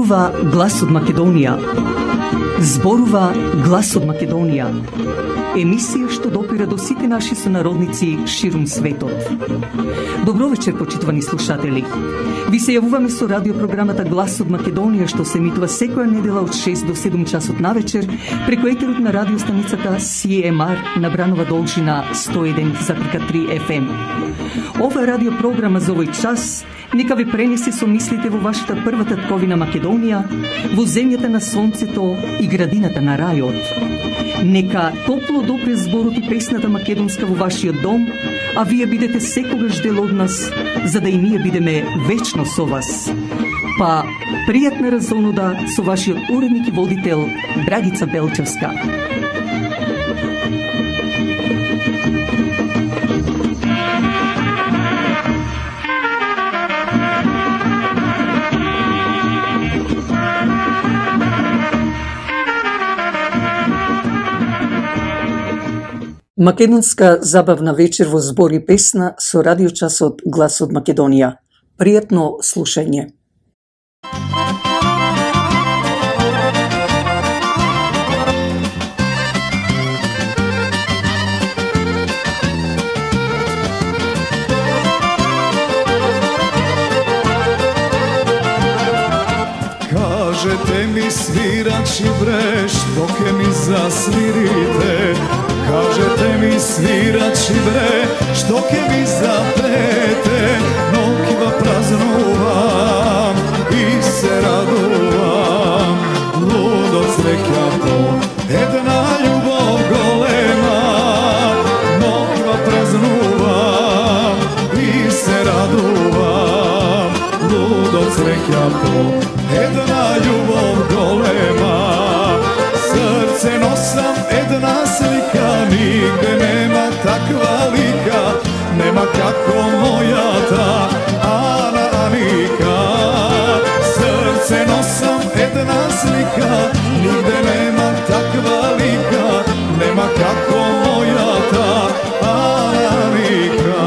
Зборува глас од Македонија. Зборува глас од Македонија. Емисија што допира до сите наши сонародници ширум светот. Добро вечер, почитувани слушатели. Ви се јавуваме со радиопрограмата Глас од Македонија, што се емитува секоја недела од 6 до 7 часот навечер преку етерот на радиостаницата CMR на Бранова должина 101,3 FM. Ова радиопрограма за овој час нека ви пренесе со мислите во вашата прва татковина Македонија, во земјата на сонцето и градината на рајот. Нека топло допре зборот и песната македонска во вашиот дом, а вие бидете секогаш дел од нас, за да и ние бидеме вечно со вас. Па, пријатна разонуда со вашиот уредник и водител Драгица Белчевска. Македонска забавна вечер во збор и песна со радиочасот Глас од Македонија. Пријатно слушање. Кажете ми, свирачи бре, што ке ми засвирите? Кажете ми, свирачи бре, што ке ми запрете? Нокива празнувам и се радувам, лудо среќато, една љубов голема. Нокива празнувам и се радувам, лудо среќато, една љубов голема. Срце носам една слика, нигде нема таква лика, нема како мојата Ана Аника. Срце носам една слика, нигде нема таква лика, нема како мојата Ана Аника.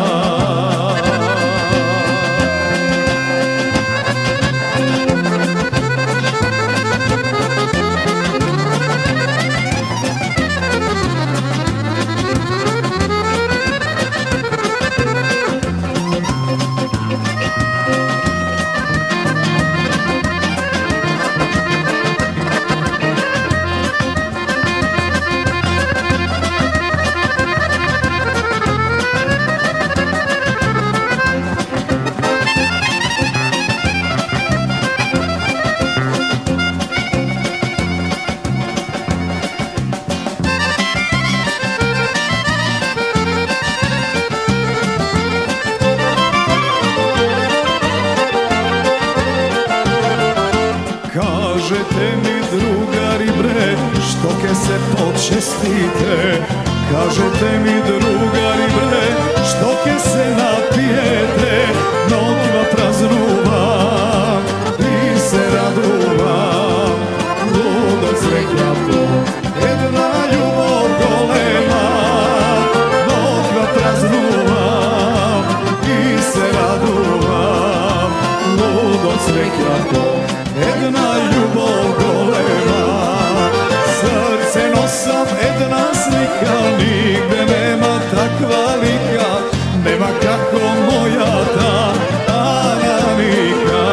Кажете ми, другари бре, што ке се почестите? Кажете ми, другари бре, што ке се напиете? Нокива празнувам и се радувам, лудо среќато, една љубов голема. Нокива празнувам и се радувам, лудо среќато, една љубов голема. Срце носам една слика, нигде нема таква лика, нема како мојата Ана Аника.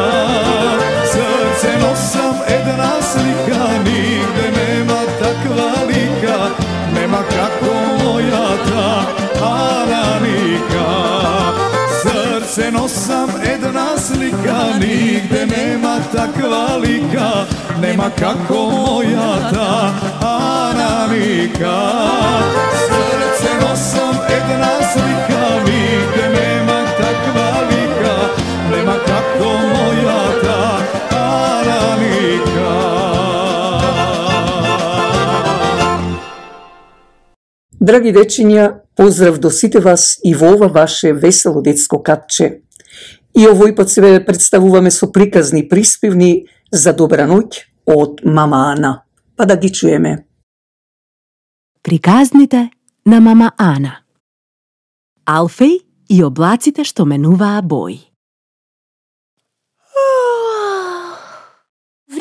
Срце носам една слика, нигде нема таква лика, нема како мојата Ана Аника. Срце носам една слика, нигде нема таква лика, нема како мојата Ана Аника. Срце носам една слика, нигде нема таква лика, нема како мојата Ана Аника. Драги дечиња, поздрав до сите вас и во ова ваше весело детско катче. И овој пат се представуваме со приказни приспевни за добра ноќ од мама Ана. Па да ги чуеме. Приказните на мама Ана. Алфеј и облаците што менуваа бои.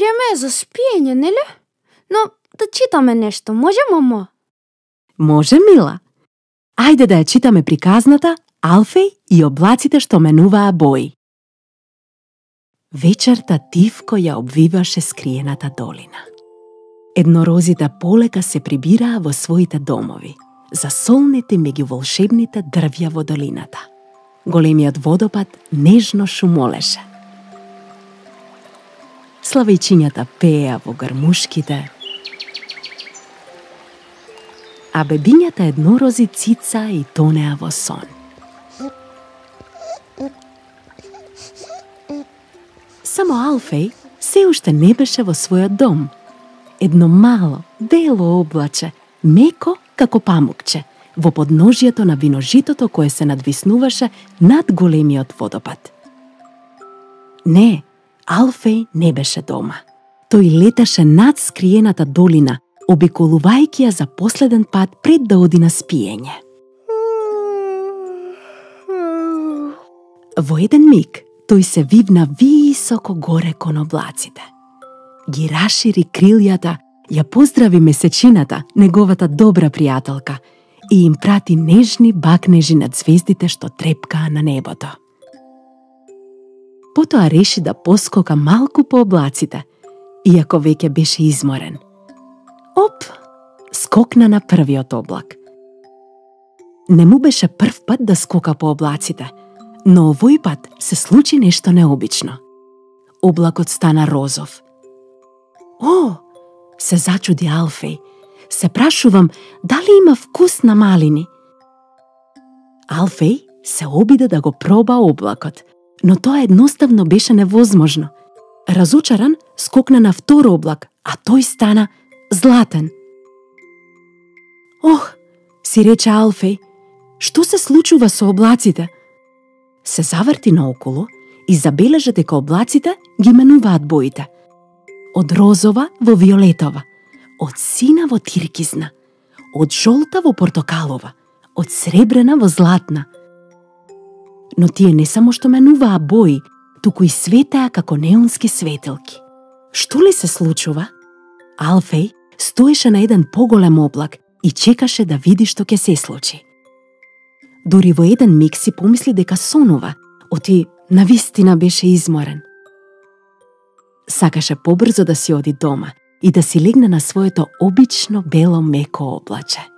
време е за спиење, нели? Но да читаме нешто, може, мамо? Може, мила. Ајде да ја читаме приказната Алфеј и облаците што менуваа бои. Вечерта тивко ја обвиваше скриената долина. Еднорозите полека се прибираа во своите домови, засолнети меѓу волшебните дрвја во долината. Големиот водопад нежно шумолеше. Славејчињата пееа во гармушките, а бебињата еднорози цица и тонеа во сон. Само Алфеј се уште не беше во својот дом. Едно мало, бело облаче, меко како памукче, во подножјето на виножитото кое се надвиснуваше над големиот водопад. Не, Алфеј не беше дома. Тој леташе над скриената долина, обиколувајќи ја за последен пат пред да оди на спиење. Во еден миг, тој се вивна високо горе кон облаците. Ги рашири крилјата, ја поздрави месечината, неговата добра пријателка, и им прати нежни бакнежи над звездите што трепкаа на небото. Потоа реши да поскока малку по облаците, иако веќе беше изморен. Оп, скокна на првиот облак. Не му беше прв пат да скока по облаците, но овој пат се случи нешто необично. Облакот стана розов. О, се зачуди Алфеј. Се прашувам дали има вкус на малини. Алфеј се обиде да го проба облакот, но тоа едноставно беше невозможно. Разочаран, скокна на втор облак, а тој стана златен. Ох, си рече Алфеј, што се случува со облаците? Се заврти наоколу и забележа дека облаците ги менуваат боите. Од розова во виолетова, од сина во тиркизна, од жолта во портокалова, од сребрена во златна. Но тие не само што менуваа бои, туку и светеа како неонски светилки. Што ли се случува? Алфеј стоеше на еден поголем облак и чекаше да види што ќе се случи. Дури во еден миг си помисли дека сонува, оти навистина беше изморен. Сакаше побрзо да си оди дома и да си легне на своето обично бело меко облаче.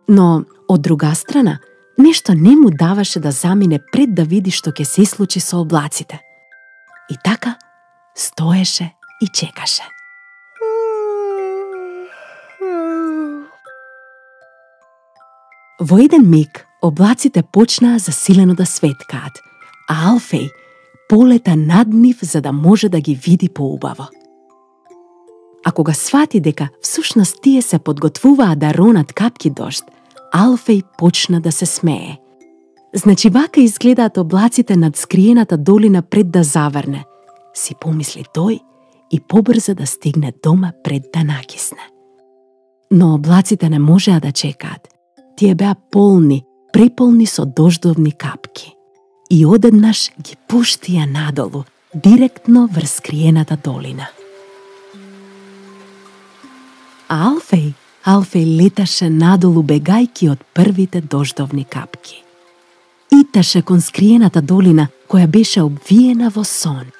Но, од друга страна, нешто не му даваше да замине пред да види што ќе се случи со облаците. И така, стоеше и чекаше. Во еден миг, облаците почнаа засилено да светкаат, а Алфеј полета над нив за да може да ги види поубаво. А кога свати дека всушност тие се подготвуваа да ронат капки дожд, Алфеј почна да се смее. Значи вака изгледаат облаците над скриената долина пред да заврне, си помисли тој и побрза да стигне дома пред да накисне. Но облаците не можеа да чекаат. Тие беа полни, преполни со дождовни капки. И одеднаш ги пуштија надолу, директно врз скриената долина. А Алфеј леташе надолу бегајки од првите дождовни капки. Иташе кон скриената долина која беше обвиена во сон.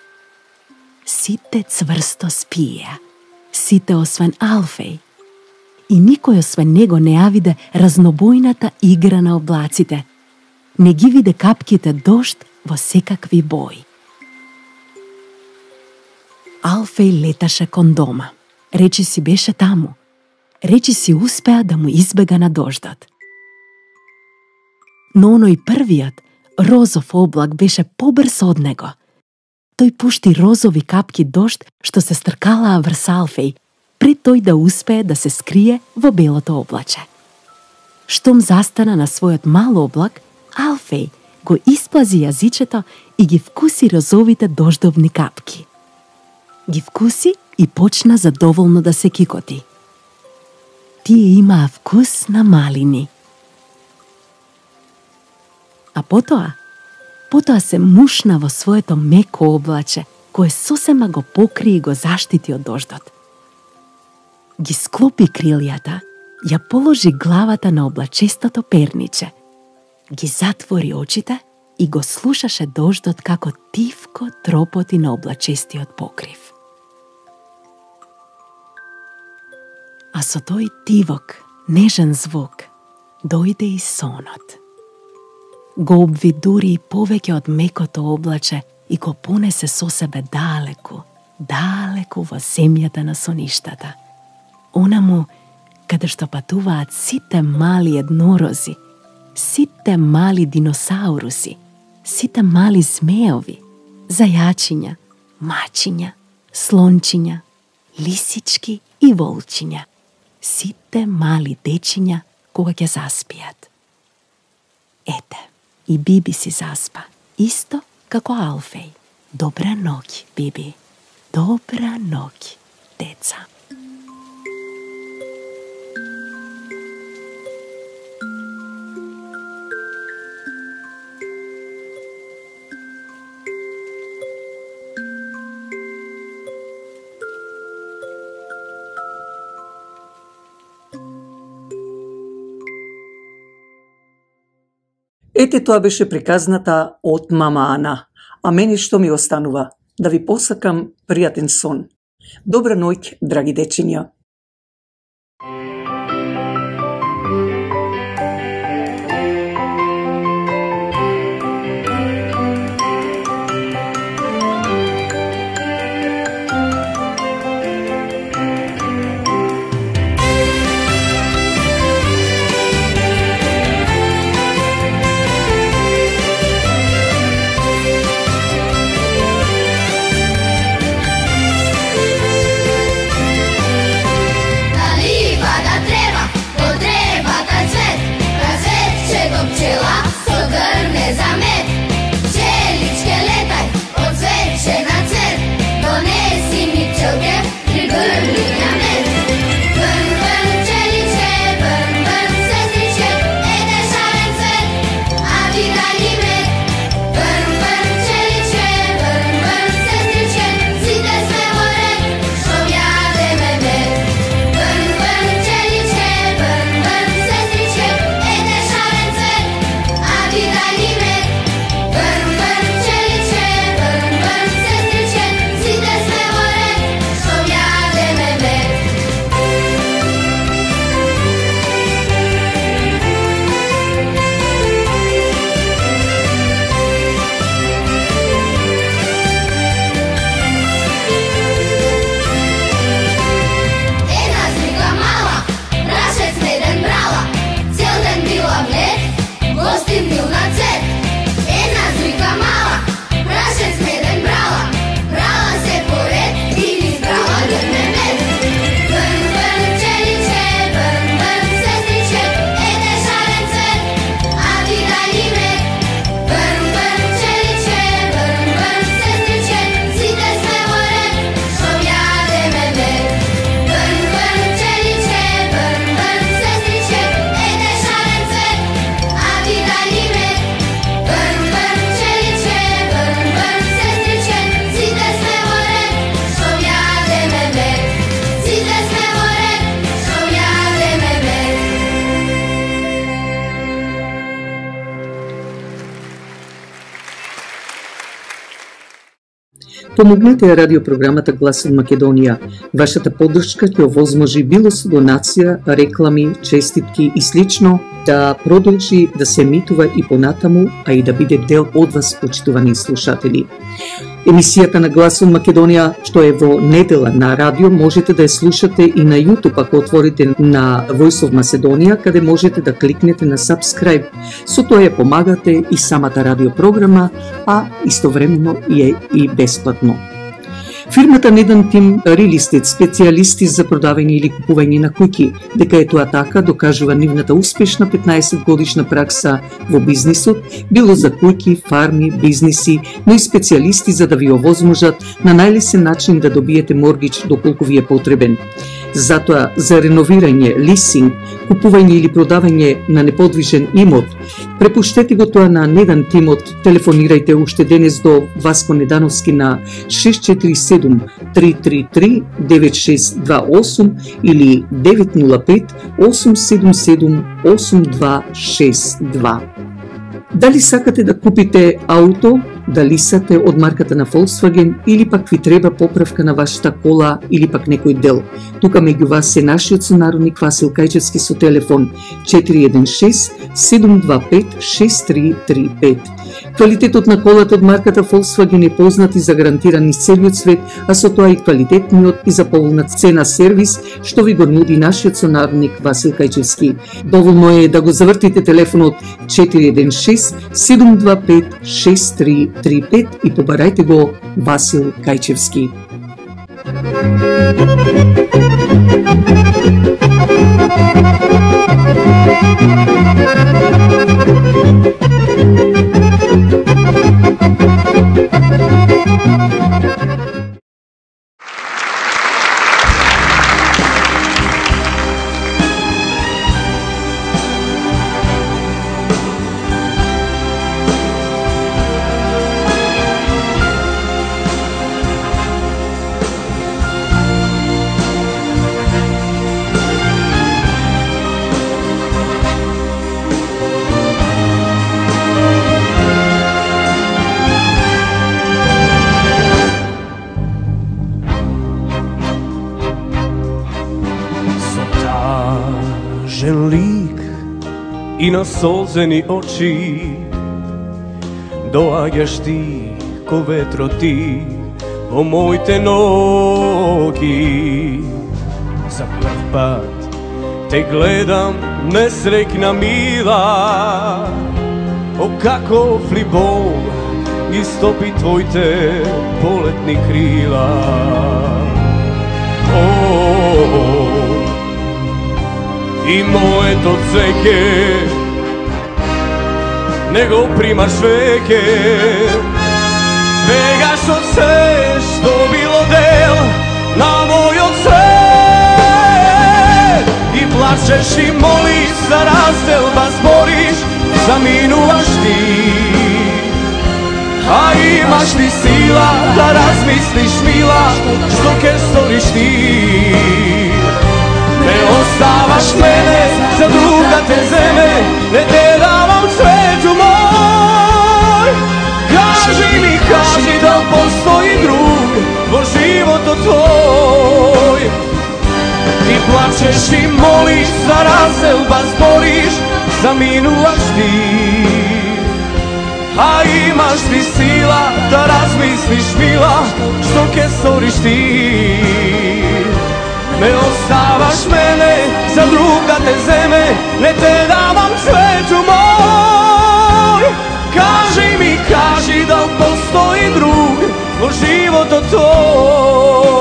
Сите цврсто спиеа, сите освен Алфеј. И никој освен него не ја виде разнобојната игра на облаците. Не ги виде капките дожд во секакви бои. Алфеј леташе кон дома. Речи си беше таму. Речи си успеа да му избега на дождот. Но оној првиот, розов облак беше побрз од него. Тој пушти розови капки дожд што се стркалаа врз Алфеј, пред тој да успее да се скрие во белото облаче. Штом застана на својот мал облак, Алфеј го исплази јазичето и ги вкуси розовите дождовни капки. Ги вкуси и почна задоволно да се кикоти. Тие имаа вкус на малини. А потоа се мушна во своето меко облаче кое сосема го покри и го заштити од дождот. Ги склопи крилјата, ја положи главата на облачестото перниче, ги затвори очите и го слушаше дождот како тивко тропоти на облачестиот покрив. А со тој тивок, нежен звук, дојде и сонот. Го обвидури и повеќе од мекото облаче и го понесе со себе далеку, далеку во земјата на соништата. Онаму каде што патуваат сите мали еднорози, сите мали диносауруси, сите мали змеови, зајачиња, мачиња, слончиња, лисички и волчиња, сите мали дечиња кога ќе заспијат. Ете, и Биби си заспа, исто како Алфеј. Добра ноќ, Биби. Добра ноќ, деца. Ете, тоа беше приказната од мама Ана. А мене што ми останува? Да ви посакам пријатен сон. Добра ноќ, драги дечиња. Помогнете ја радиопрограмата Глас од Македонија. Вашата поддршка ќе овозможи било со донација, реклами, честитки и слично да продолжи да се емитува и понатаму, а и да биде дел од вас, почитувани слушатели. Емисијата на Глас од Македонија, што е во недела на радио, можете да ја слушате и на YouTube, ако отворите на Voice of Macedonia, каде можете да кликнете на subscribe. Со тоа ја помагате и самата радиопрограма, а истовремено е и бесплатно. Фирмата Недан Тим Real Estate, специјалисти за продавање или купување на куќи, дека е тоа така, докажува нивната успешна 15 годишна пракса во бизнисот, било за куќи, фарми, бизниси, но и специјалисти за да ви овозможат на најлесен начин да добиете моргич доколку ви е потребен. Затоа, за реновирање, лисинг, купување или продавање на неподвижен имот, препуштете го тоа на неден тимот, телефонирајте уште денес до Васко Недановски на 647-333-9628 или 905-877-8262. Дали сакате да купите ауто, дали сате од марката на Volkswagen или пак ви треба поправка на вашата кола или пак некој дел. Тука меѓу вас е нашиот сонародник Васил Кајчевски со телефон 416-725-6335. Квалитетот на колата од марката Volkswagen е познат и загарантиран из целиот свет, а со тоа и квалитетниот и за поволна цена сервис што ви го нуди нашиот сонародник Васил Кајчевски. Доволно е да го завртите телефонот 416-725-6335 и побарајте го Васил Кајчевски. Лик и на солзени очи доаѓаш ти ко ветро ти во моите ноги. За прв пат те гледам несрекна мила, о каков ли Бог истопи твоите полетни крила. И моето цвеќе не го примаш веќе, бегаш од се што било дел на мојот свет. И плачеш и молиш за разделба, збориш, заминуваш ти, а имаш ли сила да размислиш, мила, што ке сториш ти? Не оставаш мене, за друг да те земе, не те давам цвету мој. Кажи ми, кажи да постои друг во животот твој. Ти плачеш и молиш за разделба, збориш, заминуваш ти, а имаш ли сила да размислиш, мила, што ке сториш ти? Не оставаш мене, за друг да те земе, не те давам цвету мој. Кажи ми, кажи да постои друг во животот твој.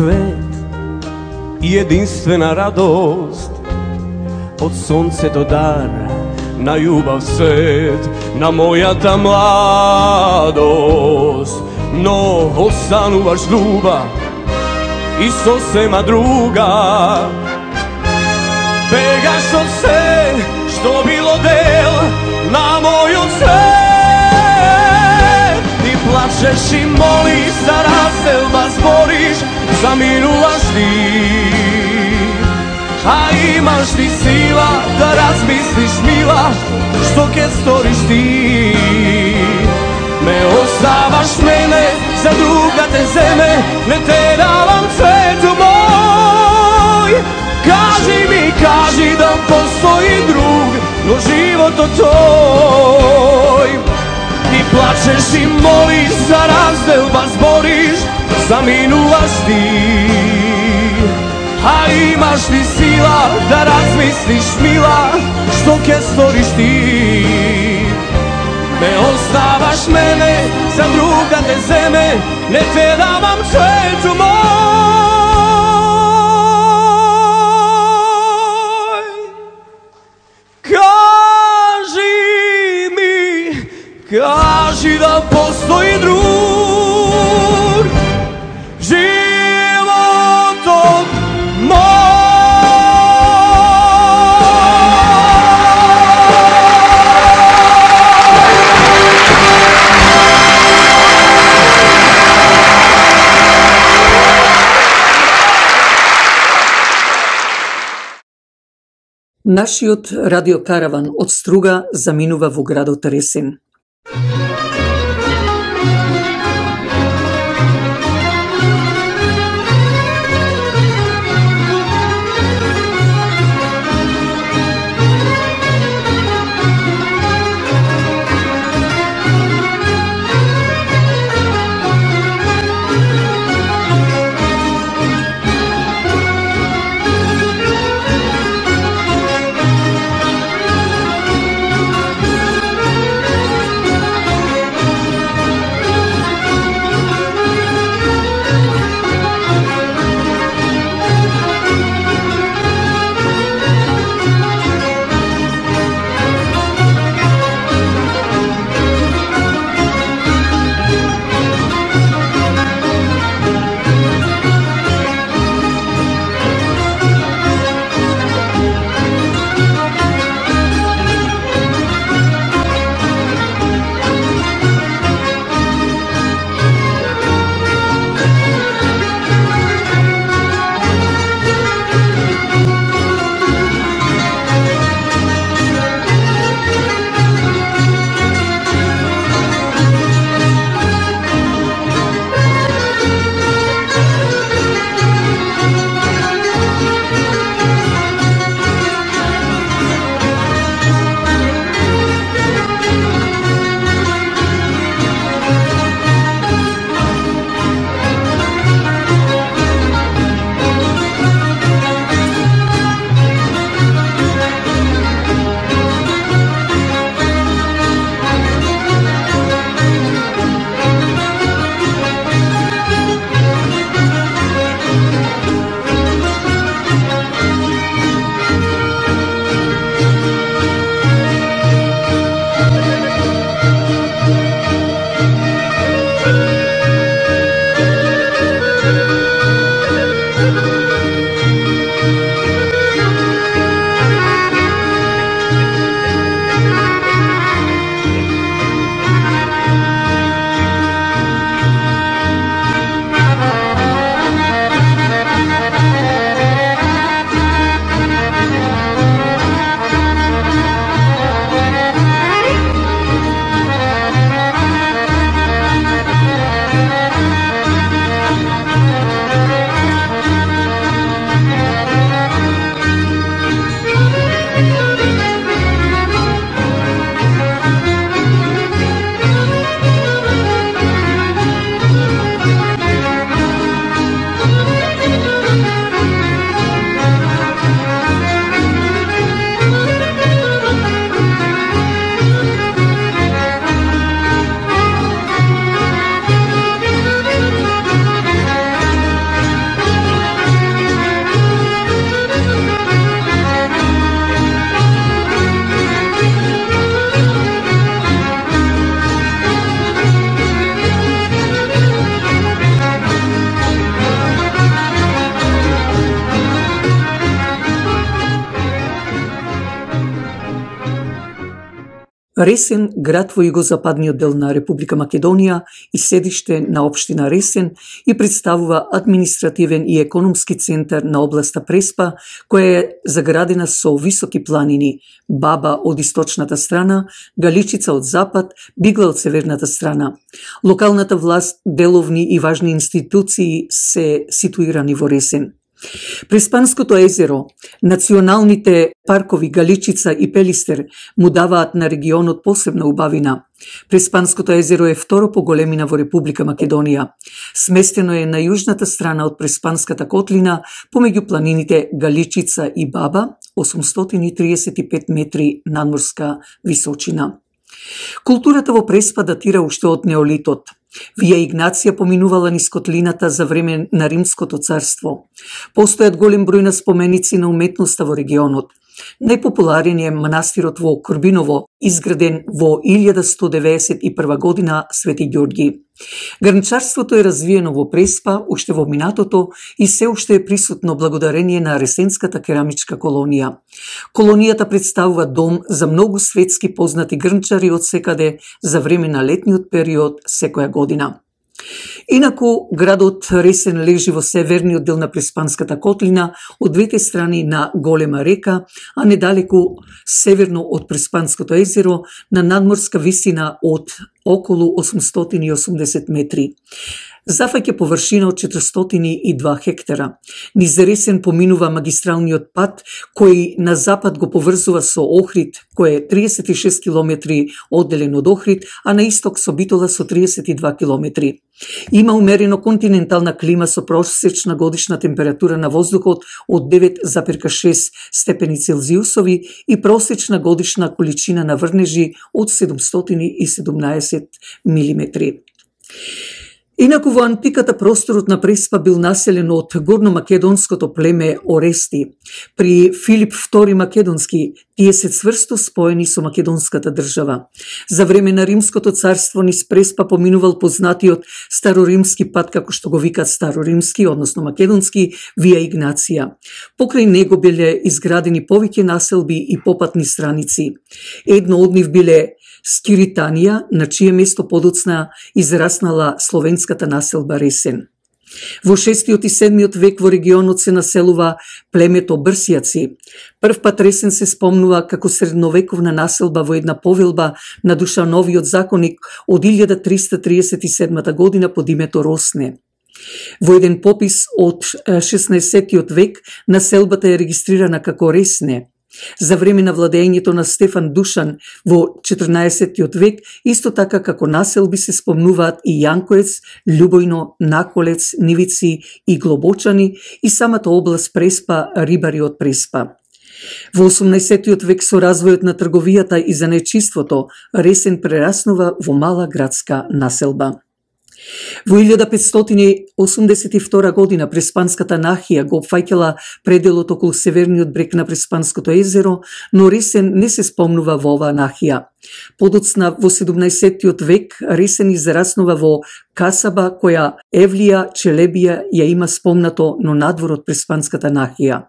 Свет и единствена радост, од сонцето дар на љубав свет, на мојата младост. Но остануваш друга и сосема друга, бегаш од се што било дел на мојот свет. И плачеш и молиш за разделба, збориш, заминуваш ти, а имаш ли сила да размислиш, мила, што ке сториш ти? Не оставаш мене, за друг да те земе, не те давам цвету мој. Кажи ми, кажи да постои друг во животот твој. Ти плачеш и молиш за разделба, збориш, заминуваш ти. А имаш ли сила да размислиш, мила, што ќе сториш ти? Ме оставаш мене, за друга те земе, не те давам цвеќу мој. Кажи ми, кажи да постои друг животот мој. Нашиот радиокараван од Струга заминува во градот Ресен. Ресен, град во југозападниот дел на Република Македонија и седиште на општина Ресен, и представува административен и економски центар на областа Преспа, која е заградена со високи планини, Баба од источната страна, Галичица од запад, Бигла од северната страна. Локалната власт, деловни и важни институции се ситуирани во Ресен. Преспанското езеро, националните паркови Галичица и Пелистер му даваат на регионот посебна убавина. Преспанското езеро е второ по големина во Република Македонија. Сместено е на јужната страна од Преспанската котлина, помеѓу планините Галичица и Баба, 835 метри надморска височина. Културата во Преспа датира уште од неолитот. Вија Игнација поминувала низ котлината за време на Римското царство. Постојат голем број на споменици на уметноста во регионот. Најпопуларен е манастирот во Корбиново, изграден во 1191 година Свети Ѓорги. Гранчарството е развиено во Преспа уште во минатото и се уште е присутно благодарение на Ресенската керамичка колонија. Колонијата представува дом за многу светски познати грнчари од секаде за време на летниот период секоја година. Инаку, градот Ресен лежи во северниот дел на Преспанската котлина, од двете страни на голема река, а недалеку северно од Преспанското езеро, на надморска висина од околу 880 метри. Зафаќа површина од 402 хектара. Низ Ресен поминува магистралниот пат, кој на запад го поврзува со Охрид, кој е 36 километри одделен од Охрид, а на исток со Битола со 32 километри. Има умерено континентална клима со просечна годишна температура на воздухот од 9,6 степени Целзиусови и просечна годишна количина на врнежи од 717 милиметри. Инаку во антиката просторот на Преспа бил населен од горномакедонското племе Орести. При Филип II Македонски тие се цврсто споени со македонската држава. За време на Римското царство низ Преспа поминувал познатиот староримски пат, како што го викат староримски, односно македонски, Вија Игнација. Покрај него биле изградени повеќе населби и попатни страници. Едно од нив биле Скиританија, на чие место подоцна израснала словенската населба Ресен. Во 6 и 7 век во регионот се населува племето Брсијаци. Прв пат Ресен се спомнува како средновековна населба во една повелба на Душановиот законик од 1337 година под името Росне. Во еден попис од 16 век населбата е регистрирана како Ресне. За време на владењето на Стефан Душан во 14 век, исто така како населби се спомнуваат и Јанкоец, Љубојно, Наколец, Нивици и Глобочани и самата област Преспа, рибари од Преспа. Во 18 век со развојот на трговијата и занечиството, Ресен прераснува во мала градска населба. Во 1582 година Преспанската нахија го опфаќала пределот околу северниот брег на Преспанското езеро, но Ресен не се спомнува во оваа нахија. Подоцна во 17 век Ресен израснува во касаба која Евлија Челебија ја има спомнато, но надвор од Преспанската нахија.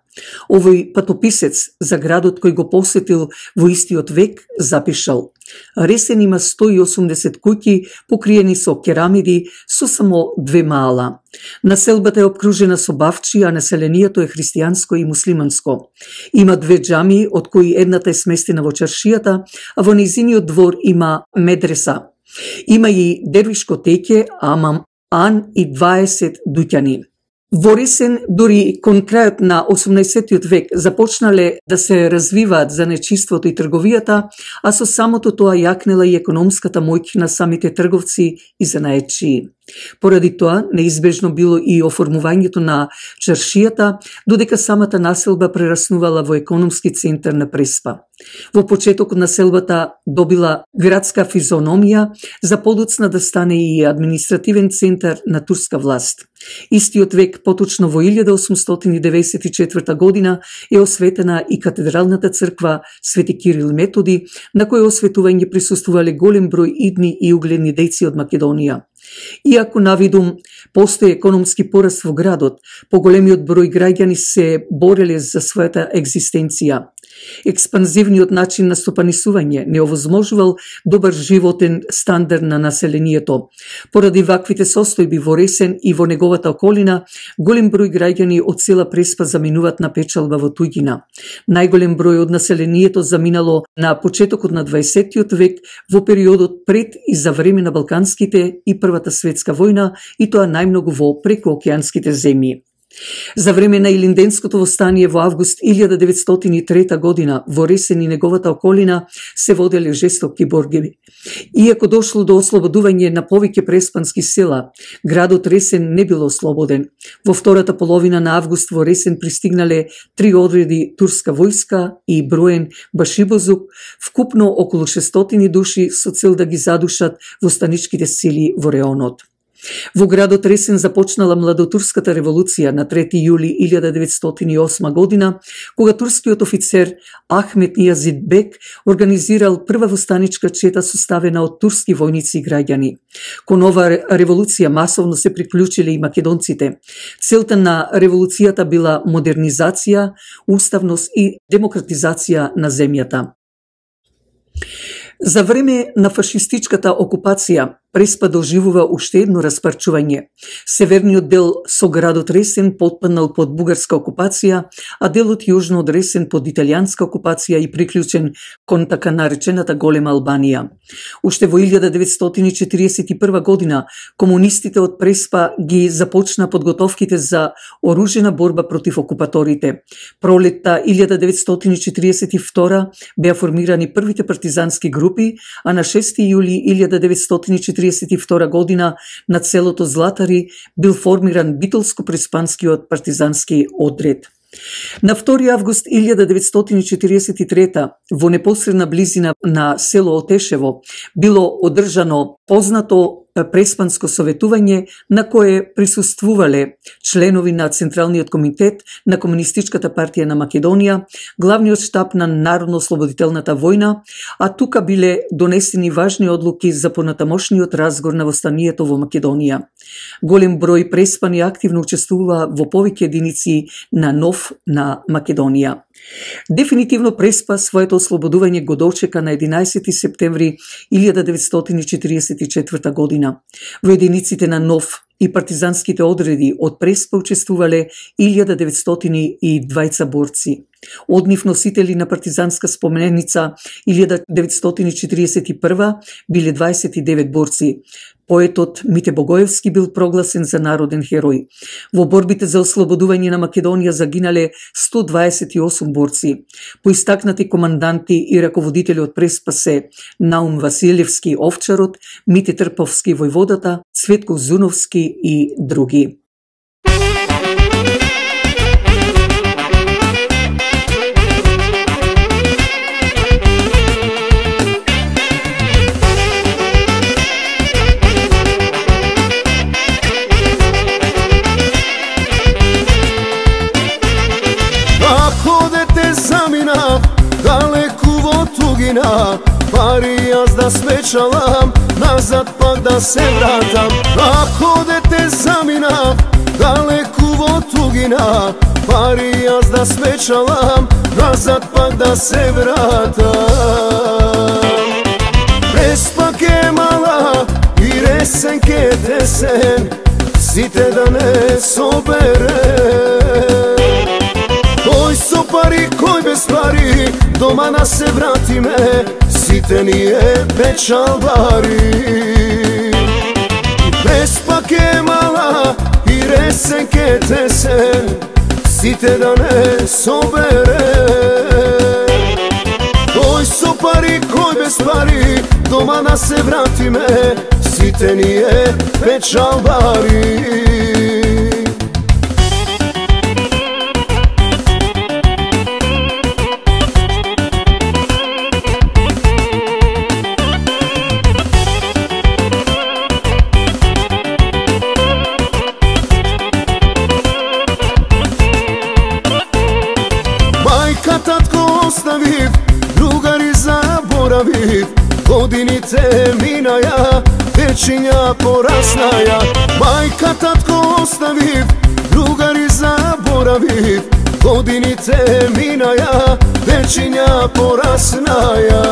Овој патописец за градот кој го посетил во истиот век запишал: Ресен има 180 куќи покриени со керамиди со само 2 мала. Населбата е обкружена со бавчи, а населението е христијанско и муслиманско. Има 2 џамии, од кои едната е сместена во чаршијата, а во нејзиниот двор има медреса. Има и дервишко теќе, аман и 20 дуќани. Во Ресен, дури кон крајот на 18 век, започнале да се развиваат занечиството и трговијата, а со самото тоа јакнела и економската моќ на самите трговци и занаетчии. Поради тоа, неизбежно било и оформувањето на чаршијата, додека самата населба прераснувала во економски центар на Преспа. Во почетокот населбата добила градска физиономија, за подоцна да стане и административен центар на турска власт. Истиот век, поточно во 1894 година, е осветена и катедралната црква Свети Кирил и Методи, на кој осветување присуствувале голем број идни и угледни дејци од Македонија. Иако навидум постои економски пораст во градот, поголемиот број граѓани се бореле за својата екзистенција. Експанзивниот начин на стопанисување не овозможувал добар животен стандард на населението. Поради ваквите состојби во Ресен и во неговата околина, голем број граѓани од цела Преспа заминуваат на печалба во туѓина. Најголем број од населението заминало на почетокот на 20 век во периодот пред и за време на Балканските и Првата светска војна, и тоа најмногу во прекоокеанските земји. За време на Илинденското востание во август 1903 година во Ресен и неговата околина се воделе жестоки борби. Иако дошло до ослободување на повеќе преспански села, градот Ресен не бил ослободен. Во втората половина на август во Ресен пристигнале 3 одреди турска војска и броен башибозук, вкупно околу 600 души со цел да ги задушат востаничките сили во реонот. Во градот Ресен започнала младотурската револуција на 3 јули 1908 година, кога турскиот офицер Ахмет Нијазид Бек организирал прва востаничка чета составена од турски војници и граѓани. Кон ова револуција масовно се приклучиле и македонците. Целта на револуцијата била модернизација, уставност и демократизација на земјата. За време на фашистичката окупација, Преспа доживува уште едно распарчување. Северниот дел со градот Ресен потпаднал под бугарска окупација, а делот јужно од Ресен под италијанска окупација и приклучен кон така наречената Голема Албанија. Уште во 1941 година комунистите од Преспа ги започна подготовките за оружена борба против окупаторите. Пролетта 1942 беа формирани првите партизански групи, а на 6 јули 1942 година на селото Златари бил формиран битолско-преспанскиот партизански одред. На 2 август 1943 во непосредна близина на село Отешево било одржано познато преспанско советување на кое присуствувале членови на Централниот комитет на Комунистичката партија на Македонија, главниот штаб на Народно-ослободителната војна, а тука биле донесени важни одлуки за понатамошниот разгор на востанието во Македонија. Голем број преспани активно учествува во повеќе единици на НОВ на Македонија. Дефинитивно Преспа своето ослободување го дочека на 11 септември 1944 година. Во единиците на НОВ и партизанските одреди од Преспа учествувале 1920 борци. Од нив носители на партизанска споменица 1941 биле 29 борци. Поетот Мите Богоевски бил прогласен за народен херој. Во борбите за ослободување на Македонија загинале 128 борци. Поистакнати команданти и раководители од Преспа се Наум Василевски Овчарот, Мите Трповски војводата, Цветко Зуновски и други. Далеку во тугина, пари јас да свечалам, назад пак да се вратам. Ако дете заминав, далеку во тугина, пари јас да свечалам, назад пак да се вратам. Преспа ке мала и Ресен ке тесен, сите да не собере. Кој со пари, кој без пари, дома на се вратиме, сите ние печалбари. И Преспа ке мала и Ресен ке тесен, сите да не собере. Кој со пари, кој без пари, дома на се вратиме, сите ние печалбари. Оставив, другари заборавив, годините минаја, вечиња пораснаја. Мајка, татко оставив, другари заборавив, годините минаја, вечиња пораснаја.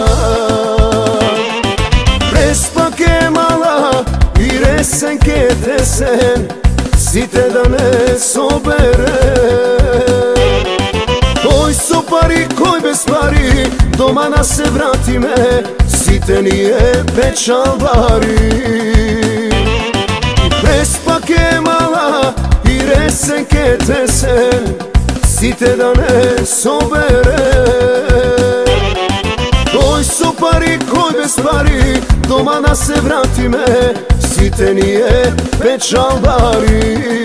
Преспа ке мала и Ресен ке тесен, сите да не собере. Кој со пари, кој без пари, дома на се вратиме, сите ние печалбари. И Преспа ке мала и Ресен ке тесен, сите да не собере. Кој со пари, кој без пари, дома да се вратиме, сите ние печалбари.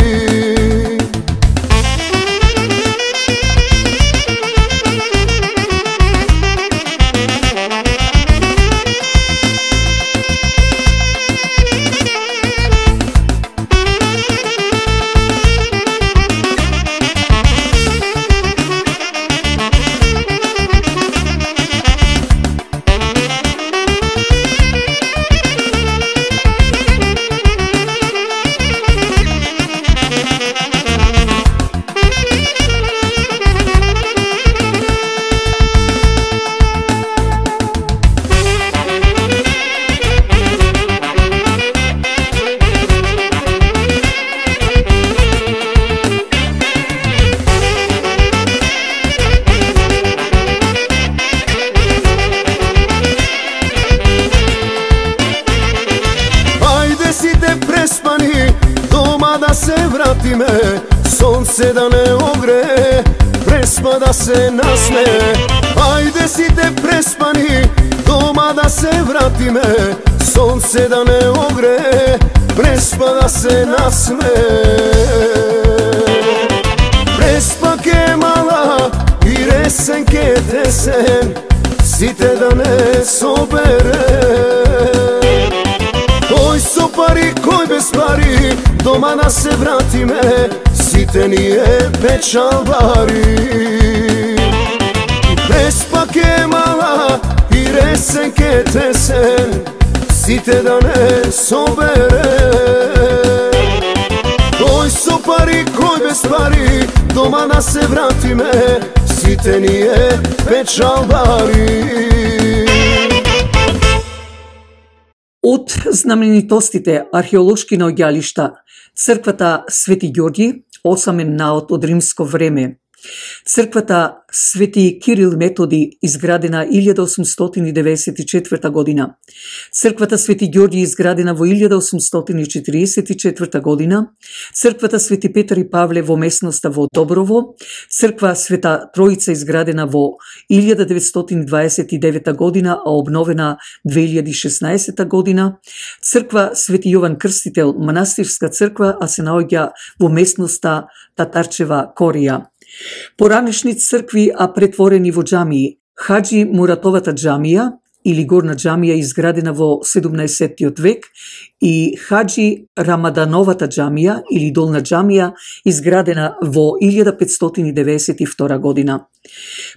Дома да се вратиме, сонце да не огре, преспа да се насме. Ајде сите преспани, дома да се вратиме, сонце да не огре, преспа да се насме. Преспа ке мала и ресен ке тесен, сите да не собере. Кој со пари, кој без пари, дома да се вратиме, сите ние печалбари. Преспа ке мала и ресен ке тесен, сите да не собере. Кој со пари, кој без пари, дома да се вратиме, сите ние печалбари. Од знаменитостите археолошки наоѓалишта, црквата Свети Ѓорѓи, осамен наод од римско време. Црквата Свети Кирил Методи, изградена 1894 година. Црквата Свети Ѓорѓи, изградена во 1844 година. Црквата Свети Петар и Павле во местноста во Доброво. Црква Света Троица, изградена во 1929 година, а обновена 2016 година. Црква Свети Јован Крстител, манастирска црква, а се наоѓа во местноста Татарчева Корија. Поранешни цркви, а претворени во џамии. Хаджи Муратовата џамија или Горна џамија, изградена во 17 век, и Хаджи Рамадановата џамија или Долна џамија, изградена во 1592 година.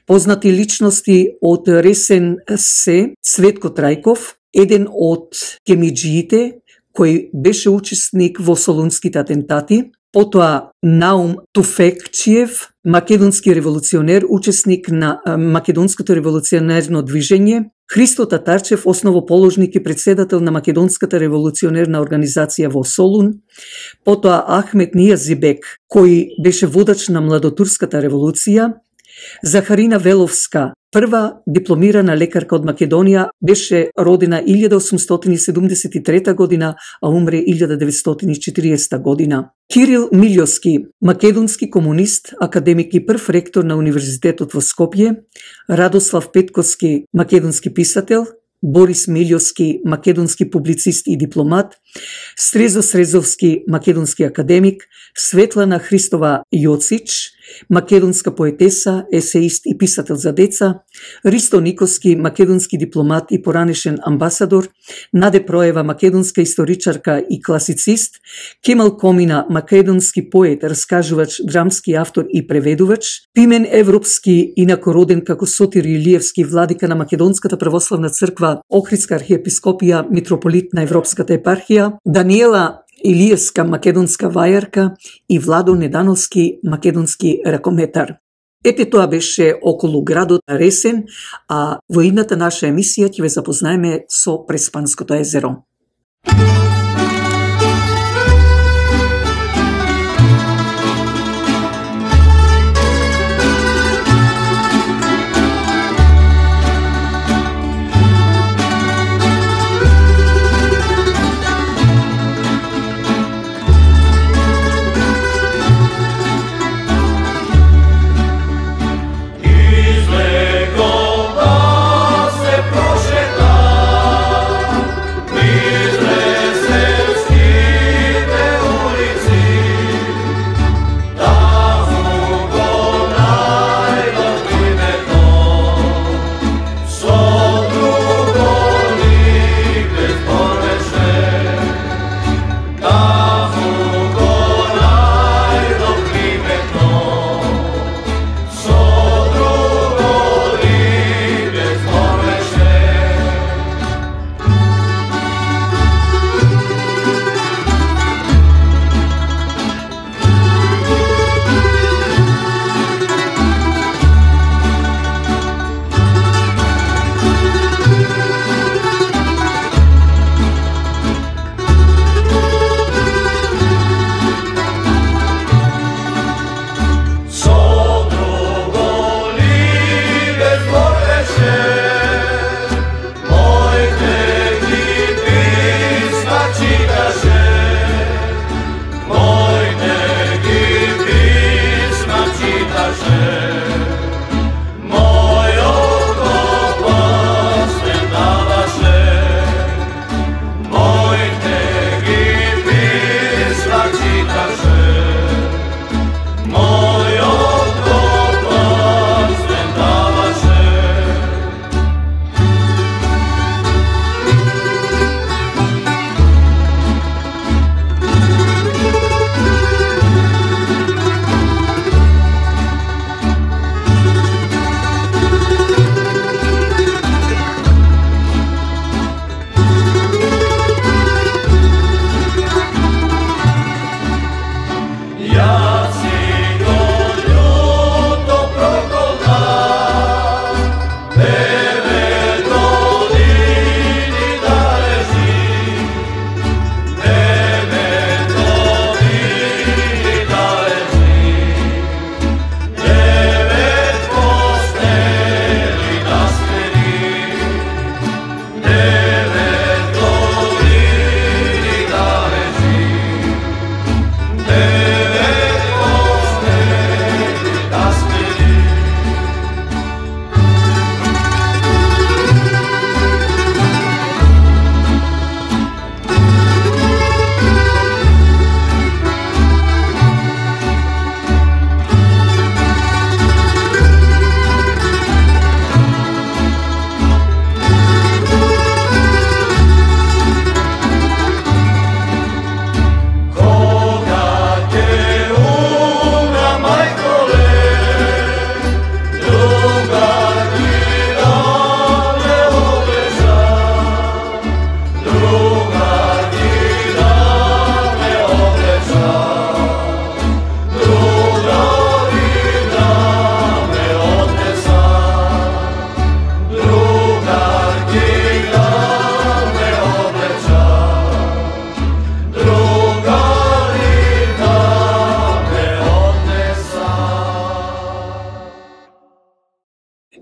Познати личности од Ресен се Цветко Трајков, еден од кемиџиите кој беше учесник во солунските атентати, потоа Наум Туфекчиев, македонски револуционер, учесник на македонското револуционерно движење, Христо Татарчев, основоположник и председател на македонската револуционерна организација во Солун, потоа Ахмет Нијазибек, кој беше водач на младотурската револуција, Захарина Веловска, прва дипломирана лекарка од Македонија, беше родена 1873 година, а умре 1940 година. Кирил Милјовски, македонски комунист, академик и прв ректор на Универзитетот во Скопје. Радослав Петковски, македонски писател. Борис Милјовски, македонски публицист и дипломат. Срезо Срезовски, македонски академик. Светлана Христова Јоцич, македонска поетеса, есеист и писател за деца. Ристо Никоски, македонски дипломат и поранешен амбасадор. Наде Проева, македонска историчарка и класицист. Кемал Комина, македонски поет, раскажувач, драмски автор и преведувач. Пимен Европски, инако роден како Сотир Илиевски, владика на Македонската православна црква, Охридска архиепископија, митрополит на Европската епархија. Даниела Илиевска, македонска вајарка, и Владо Недановски, македонски ракометар. Ете, тоа беше околу градот Ресен, а во идната наша емисија ќе ве запознаеме со Преспанското езеро.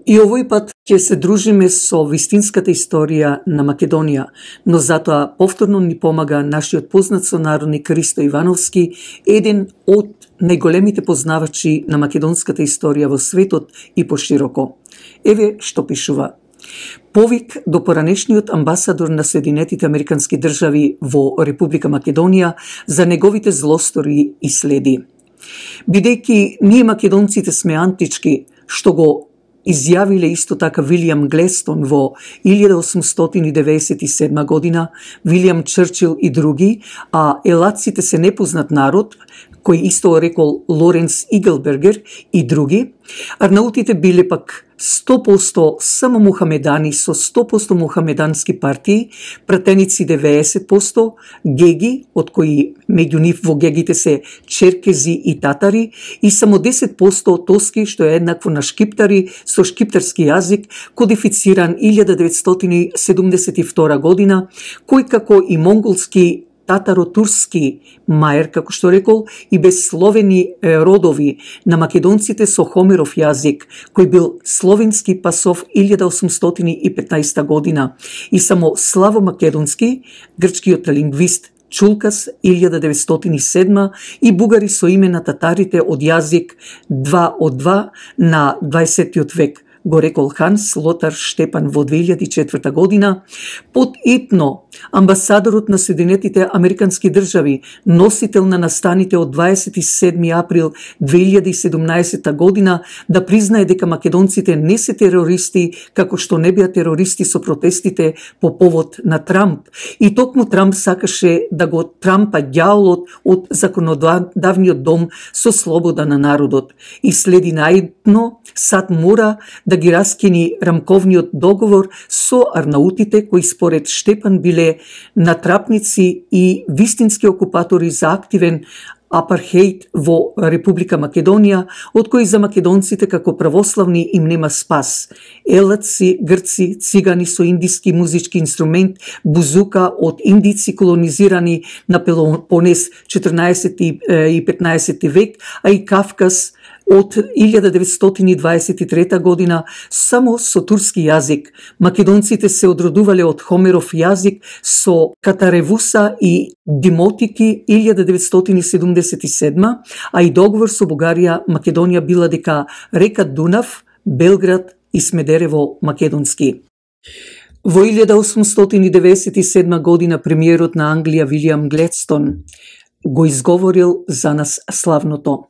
И овој пат ќе се дружиме со вистинската историја на Македонија, но затоа повторно ни помага нашиот познат сонародник Христо Ивановски, еден од најголемите познавачи на македонската историја во светот и пошироко. Еве што пишува. Повик до поранешниот амбасадор на Соединетите Американски држави во Република Македонија за неговите злостори и следи. Бидејќи ние македонците сме антички, што го изјавиле исто така Вилијам Глестон во 1897 година, Вилијам Чрчил и други, а елаците се непознат народ, кој исто рекол Лоренс Игелбергер и други, арнаутите биле пак 100% само мухамедани со 100% мухамедански партии, пратеници 90%, геги, од кои меѓу нив во гегите се черкези и татари, и само 10% тоски, што е еднакво на шкиптари со шкиптарски јазик, кодифициран 1972 година, кој како и монголски татаро-турски маер, како што рекол, и безсловени родови на македонците со Хомеров јазик, кој бил словенски пасов 1815 година, и само славо македонски, грчкиот лингвист Чулкас 1907 и бугари со име на татарите од јазик 2 од 2 на 20 век, го рекол Ханс Лотар Штепан во 2004 година, под итно амбасадорот на Соединетите Американски држави, носител на настаните од 27 април 2017 година, да признае дека македонците не се терористи, како што не беа терористи со протестите по повод на Трамп. И токму Трамп сакаше да го трампа ѓаолот од законодавниот дом со слобода на народот. И следи наидно, САД мора да ги раскини рамковниот договор со арнаутите, кои според Штепан биле натрапници и вистински окупатори за активен апархејд во Република Македонија, од кои за македонците како православни им нема спас. Елаци, грци, цигани со индиски музички инструмент, бузука од индици колонизирани на Пелопонес 14 и 15 век, а и Кавказ од 1923 година само со турски јазик. Македонците се одродувале од Хомеров јазик со Катаревуса и Димотики 1977, а и договор со Бугарија Македонија била дека река Дунав, Белград и Смедерево македонски. Во 1897 година премиерот на Англија Вилијам Гледстон го изговорил за нас славното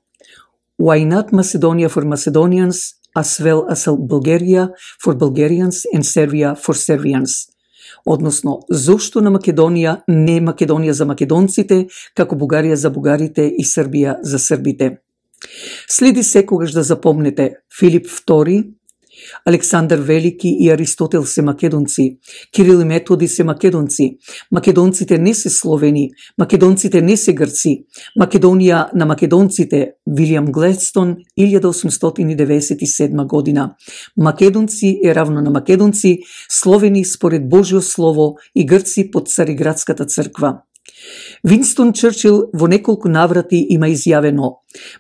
Why not Macedonia for Macedonians, as well as Bulgaria for Bulgarians and Serbia for Serbians? Односно, зошто на Македонија не Македонија за македонците, како Бугарија за бугарите и Србија за србите? Следи секогаш да запомнете, Филип II, Александар Велики и Аристотел се македонци, Кирил и Методи се македонци, македонците не се словени, македонците не се грци, Македонија на македонците, Вилијам Гледстон, 1897 година. Македонци е равно на македонци, словени според Божјо слово и грци под Цариградската црква. Винстон Чрчил во неколку наврати има изјавено: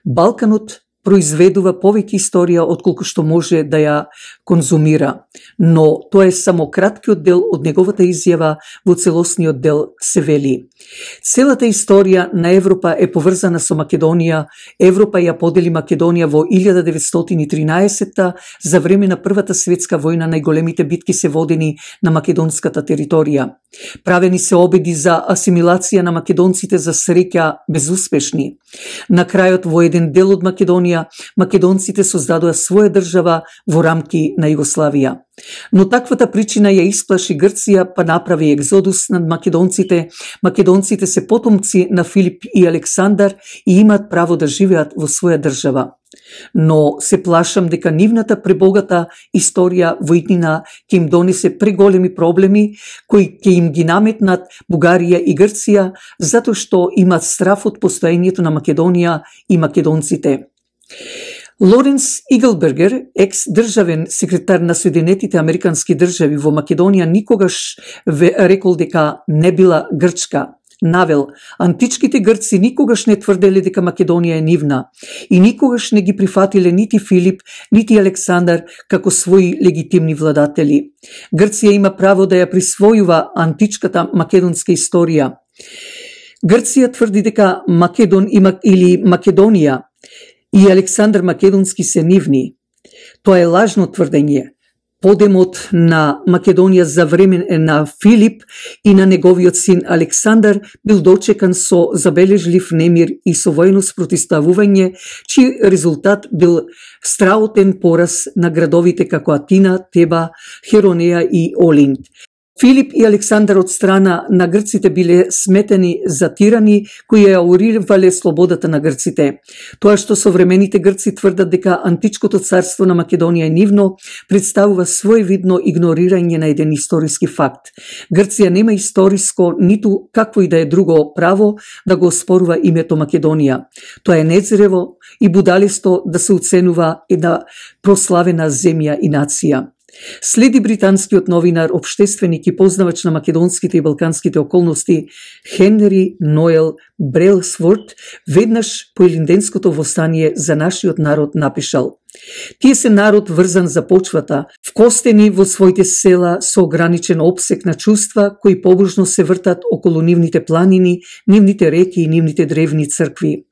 Балканот произведува повеќе историја отколку што може да ја конзумира, но тоа е само краткиот дел од неговата изјава. Во целосниот дел се вели: целата историја на Европа е поврзана со Македонија. Европа ја подели Македонија во 1913 за време на Првата светска војна. Најголемите битки се водени на македонската територија. Правени се обиди за асимилација на македонците, за среќа безуспешни. На крајот во еден дел од Македонија македонците создадоа своја држава во рамки на Југославија. Но таквата причина ја исплаши Грција, па направи екзодус над македонците. Македонците се потомци на Филип и Александар и имаат право да живеат во своја држава. Но се плашам дека нивната пребогата историја во иднина ќе им донесе преголеми проблеми кои ќе им ги наметнат Бугарија и Грција, затоа што имаат страф од постоењето на Македонија и македонците. Лоренс Игелбергер, екс-државен секретар на Соединетите Американски држави во Македонија, никогаш рекол дека не била грчка. навел, античките грци никогаш не тврделе дека Македонија е нивна и никогаш не ги прифатиле нити Филип, нити Александар како своји легитимни владатели. Грција има право да ја присвојува античката македонска историја. Грција тврди дека Македон или Македонија и Александар Македонски се нивни. Тоа е лажно тврдење. Подемот на Македонија за време на Филип и на неговиот син Александар бил дочекан со забележлив немир и со војно спротивставување, чиј резултат бил страотен пораз на градовите како Атина, Теба, Херонеја и Олинт. Филип и Александар од страна на грците биле сметени за тирани кои ја уривале слободата на грците. Тоа што современите грци тврдат дека античкото царство на Македонија е нивно, представува своевидно игнорирање на еден историски факт. Грција нема историско ниту какво и да е друго право да го оспорува името Македонија. Тоа е незрево и будалисто да се оценува една прославена земја и нација. Следи британскиот новинар, општественик и познавач на македонските и балканските околности Хенри Ноел Брелсворт веднаш по Илинденското востание за нашиот народ напишал: "Тие се народ врзан за почвата, вкостени во своите села со ограничен опсек на чувства кои побожно се вртат околу нивните планини, нивните реки и нивните древни цркви.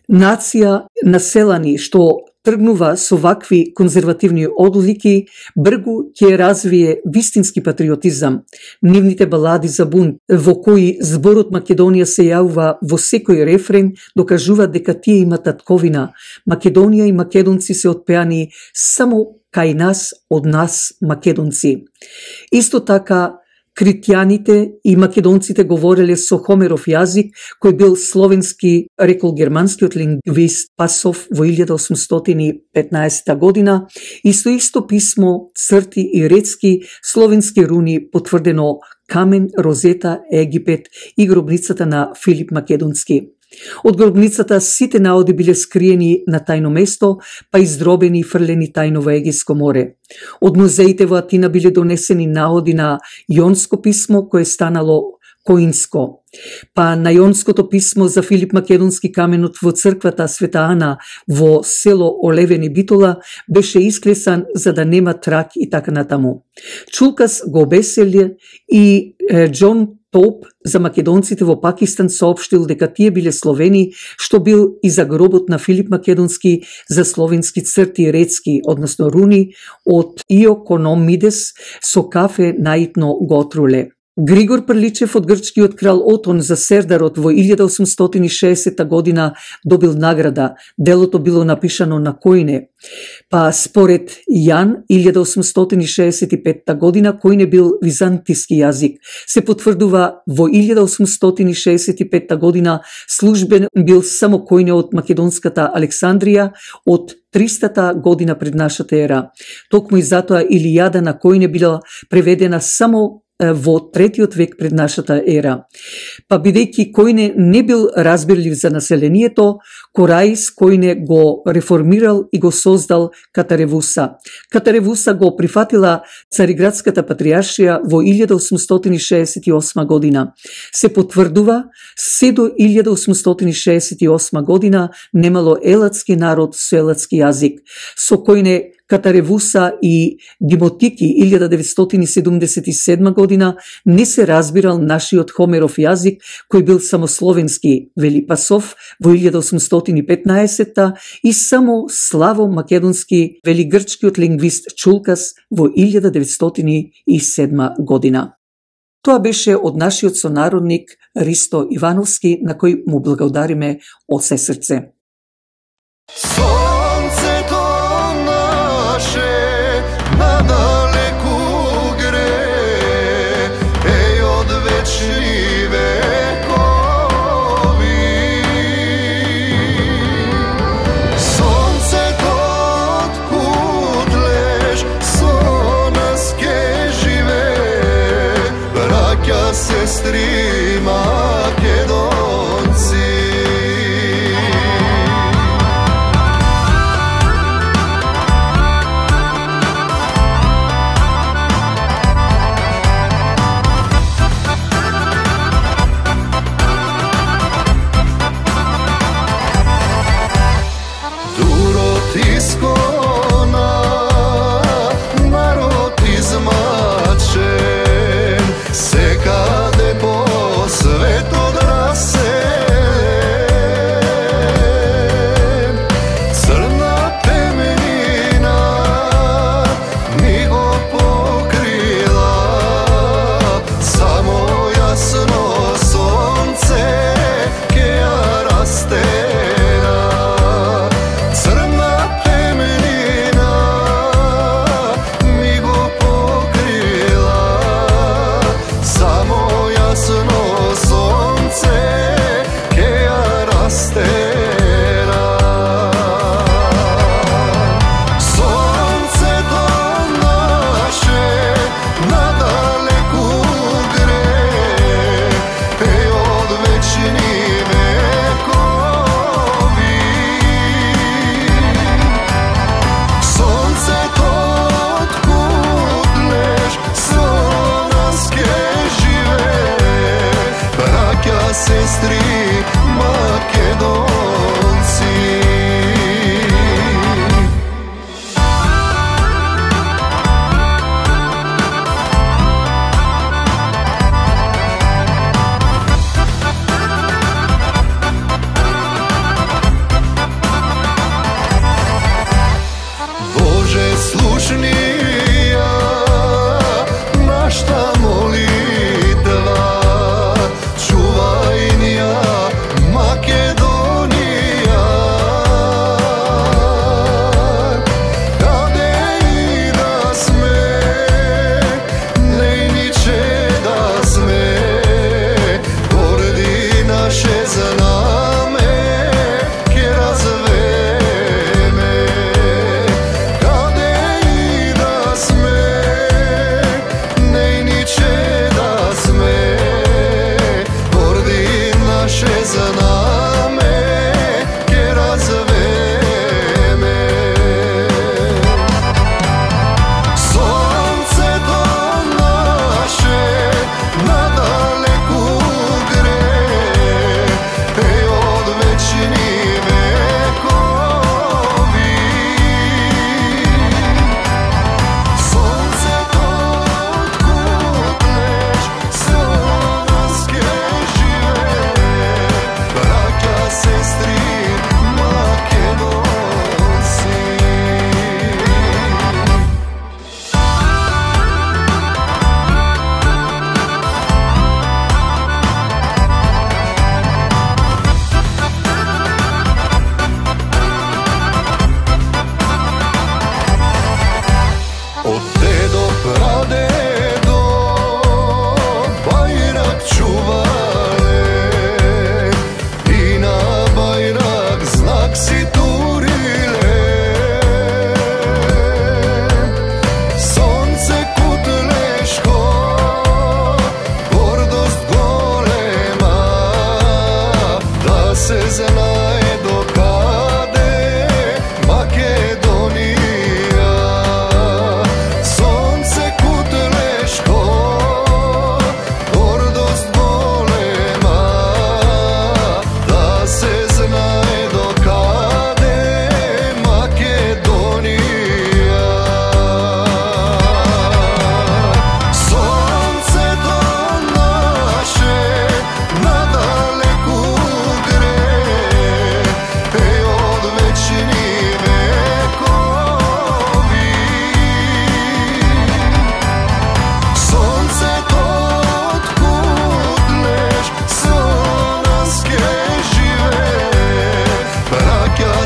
Нација населани што тргнува со вакви конзервативни одлики, бргу ќе развие вистински патриотизам. Нивните балади за бунт, во кои зборот Македонија се јавува во секој рефрен, докажуваат дека тие имат татковина. Македонија и македонци се отпеани само кај нас, од нас, македонци." Исто така, критјаните и македонците говореле со Хомеров јазик, кој бил словенски, рекол германскиот лингвист Пасов во 1815 година, и со исто писмо, црти и ретски словенски руни потврдено Камен, Розета, Египет и гробницата на Филип Македонски. Од гробницата сите наоди биле скриени на тајно место, па издробени и фрлени тајно во Егејско море. Од музеите во Атина биле донесени наоди на јонско писмо кое станало Коинско. Па на јонското писмо за Филип Македонски каменот во црквата Света Ана во село Олевени Битола беше исклесан за да нема трак и така натаму. Чулкас го обеселе и Џон Топ за македонците во Пакистан соопштил дека тие биле словени, што бил и за гробот на Филип Македонски за словенски црти ретски, односно руни, од Иокономидес со кафе наитно го отруле. Григор Прличев од грчкиот крал Отон за Сердарот во 1860 година добил награда. Делото било напишано на којне. Па според Јан, 1865 година којне бил византиски јазик. Се потврдува во 1865 година службен бил само којне од македонската Александрија од 300-та година пред нашата ера. Токму и затоа Илијада на којне била преведена само во 3-тиот век пред нашата ера. Па бидејќи којне не бил разбирлив за населението, Кораис којне го реформирал и го создал Катаревуса. Катаревуса го прифатила Цариградската патриаршија во 1868 година. Се потврдува, се до 1868 година немало елатски народ со елатски јазик, со којне Катаревуса и Димотики 1977 година не се разбирал нашиот Хомеров јазик, кој бил само словенски, вели Пасов во 1815 и само славо македонски, вели грчкиот лингвист Чулкас во 1907 година. Тоа беше од нашиот сонародник Ристо Ивановски, на кој му благодариме од се срце. Sestri Makedonci.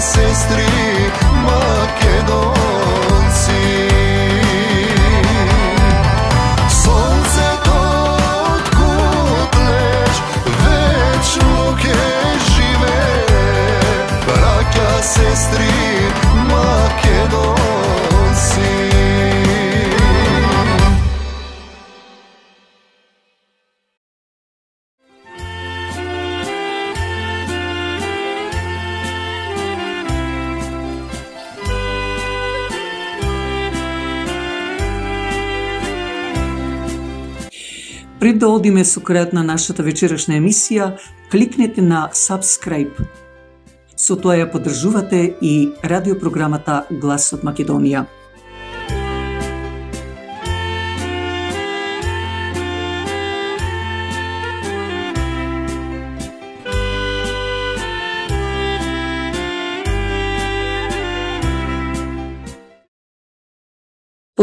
sestri Makedonci. Сонце отkud леш, вечно ке живе, браќа, сестри Македонци. Пред да одиме со крајот на нашата вечерашна емисија, кликнете на Subscribe. Со тоа ја поддржувате и радиопрограмата Глас од Македонија.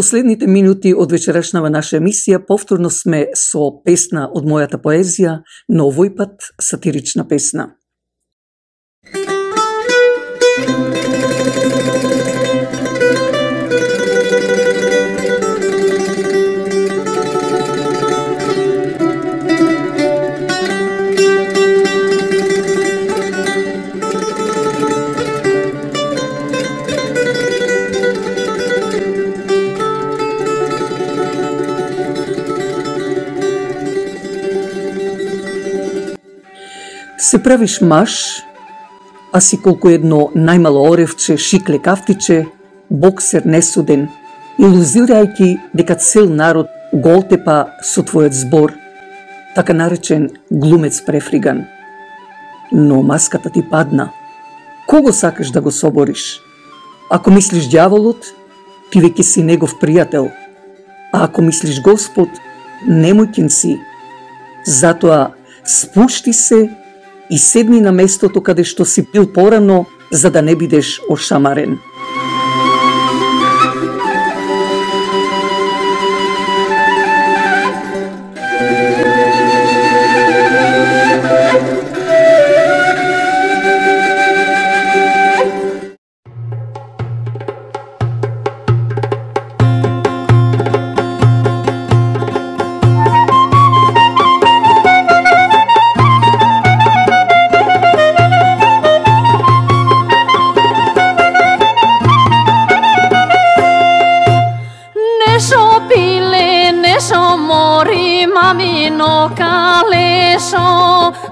Последните минути од вечерашнава наша емисија повторно сме со песна од мојата поезија, но овој пат сатирична песна. Се правиш маж, а си колку едно најмало оревче, шикле кафтиче, боксер несуден, илузирајќи дека цел народ го отепа со твојот збор, така наречен глумец префриган. Но маската ти падна. Кого сакаш да го собориш? Ако мислиш ѓаволот, ти веќе си негов пријател, а ако мислиш Господ, немојќен си. Затоа спушти се и седни на местото каде што си бил порано, за да не бидеш ошамарен.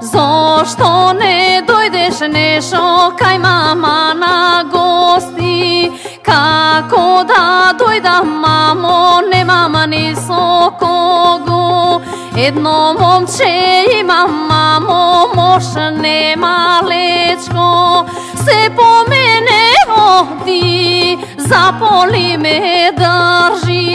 Зошто не дојдеш нешо кај мама на гости? Како да дојдам, мамо, немам ни со кого. Едно момче имам, мамо, мош нема лечко. Се по мене оди, заполи ме држи.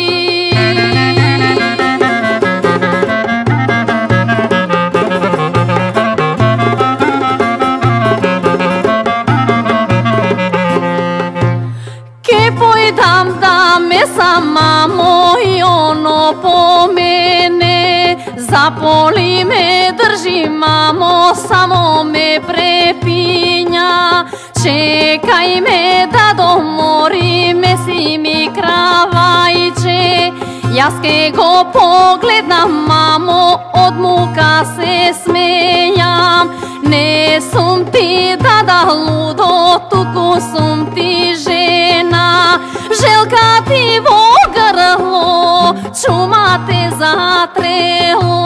Мамо, и оно по мене, заполи ме, држи, мамо, само ме препиња. Чекај ме да домори, меси ми кравајче. Јас ке го погледнам, мамо, од мука се смејам. Не сум ти дада лудо, туку сум ти жена. Желка ти во грло, чума те затрело.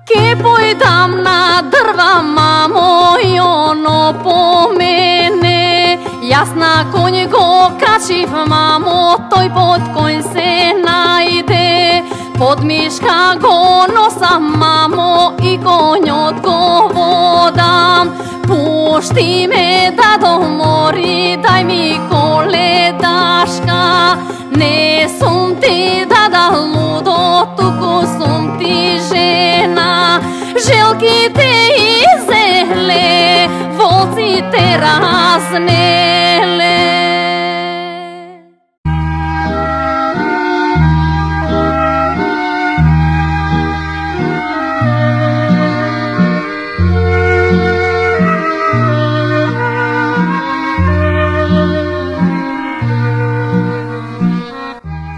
Ке појдам на дрва, мамо, и оно по мене. Јас на коњ го качив, мамо, тој под коњ се најде. Под мишка го носам, мамо, и коњот го водам. Пушти ме да домори, дај ми коледашка. Не сум ти дада лудо, туку сум ти жена. Желките изеле, волците разнеле.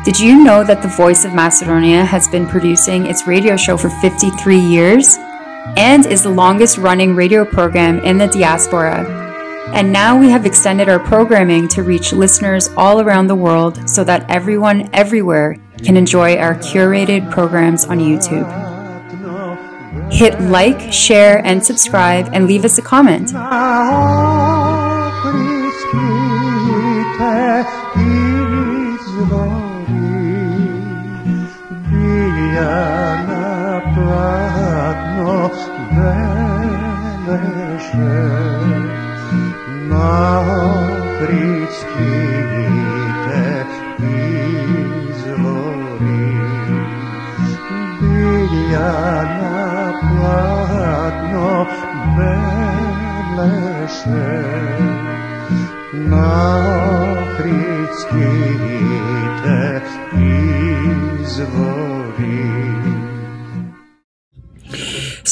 Did you know that the Voice of Macedonia has been producing its radio show for 53 years and is the longest running radio program in the diaspora? And now we have extended our programming to reach listeners all around the world so that everyone everywhere can enjoy our curated programs on YouTube. Hit like, share, and subscribe, and leave us a comment.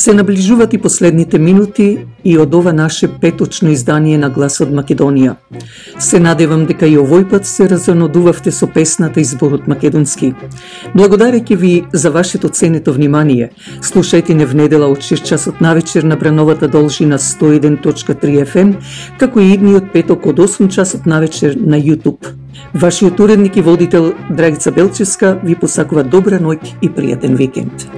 Се наближуваат и последните минути и од ова наше петочно издание на Глас од Македонија. Се надевам дека и овој пат се разонодувавте со песната и зборот македонски. Благодарејќи ви за вашето ценето внимание, слушајте не в недела од 6 часот навечер на брановата должина 101.3 FM, како и идниот петок од 8 часот навечер на YouTube. Вашиот уредник и водител Драгица Белчевска ви посакува добра ноќ и пријатен викенд.